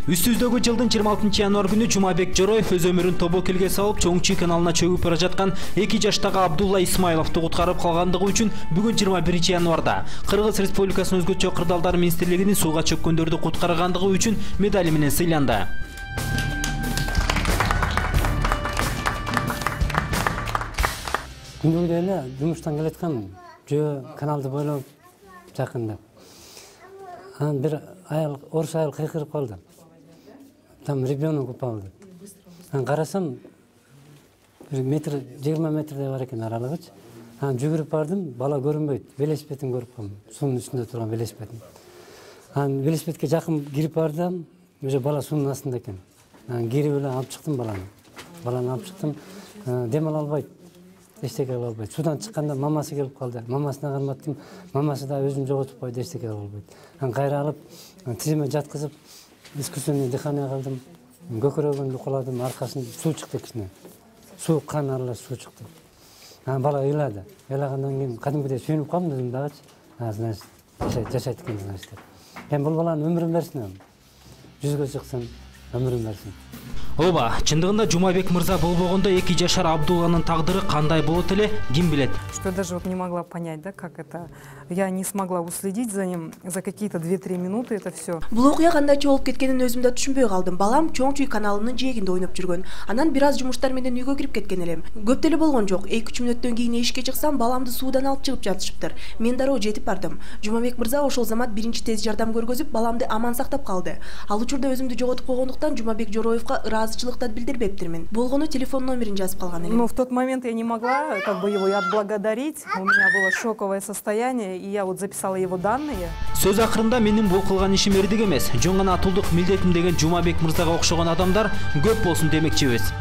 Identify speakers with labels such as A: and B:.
A: Үстүздөгү жылдын 26 январ күнү Жумабек Жороев өз өмүрүн тобокелге салып, Чоң Чүй каналына чөгүп бара жаткан 2 жаштагы Абдулла Исмайловду куткарып калгандыгы үчүн бүгүн 21 январда Кыргыз Республикасынын өзгөчө кырдаалдар министрлигинин сууга чөккөндөрдү куткаргандыгы үчүн медали менен сыйланды.
B: Күндү эле жумуштан келаткан жөө каналды бойлоп жакында. Анан бир айыл, орус айыл кыйкырып калды. Там ребенок упал. Анан карасам, 20 метрдей бар экен аралыгычы. Анан жүгүрүп бардым, бала көрүнбөйт. Велосипедин көрүп калдым. Суунун үстүндө турган велосипедин. Анан велосипедке жакын кирип бардым, уже бала суунун астында экен. Анан кирип эле алып чыктым баланы. Баланы алып чыктым. Дем ала албайт. Эчтеке кыла албайт. Судан чыкканда мамасы келип калды. Мамасына карматтым. Мамасы да өзүн жоготуп койду, эчтеке кыла албайт. Анан кайра алып, тизиме жаткызып, искусственный дыхание кылдым. Көкөрөгүн укуладым, аркасын суу чыкты кичине. Суу, кан аралаш суу чыкты. Анан бала ыйлады. Ыйлагандан кийин кадимгидей сүйүнүп калдым өзүм дагычы. Значит, жашайт экен, значит. Бул баланын өмүрүн берсин. Жүзгө чыксын, өмүрүн берсин.
A: Ооба, чындыгында Жумабек мырза болбогондо 2 жашар Абдулланын тагдыры кандай болот эле, ким билет.
C: Что я даже вот не могла понять, да, как это. Я не смогла уследить за ним за какие-то 2-3 минуты это все.
D: Бул окуя кандайча болуп кеткенин өзүм да түшүнбөй калдым. Балам Чоң Чүй каналынын жээгинде ойноп жүргөн. Анан бир аз жумуштар менен үйгө кирип кеткен элем. Көп деле болгон жок. 2-3 мүнөттөн кийин эшикке чыксам, баламды суудан алып чыгып жатышыптыр. Мен дароо жетип бардым. Жумабек мырза ошол замат биринчи тез жардам көргөзүп, баламды аман сактап калды. Ал учурда өзүмдү жоготуп койгондуктан Жумабек Жороевго ыраазычылык да билдирбептирмин. Болгону телефон номерин жазып калган элем.
C: Но в тот момент я не могла как бы его отблагодарить. У меня было шоковое состояние, и я вот записала его данные.
A: Сөз акырында менин бул кылган ишим эрдик эмес, жөн гана атуулдук милдетим деген Жумабек мырзага окшогон адамдар көп болсун демекчибиз.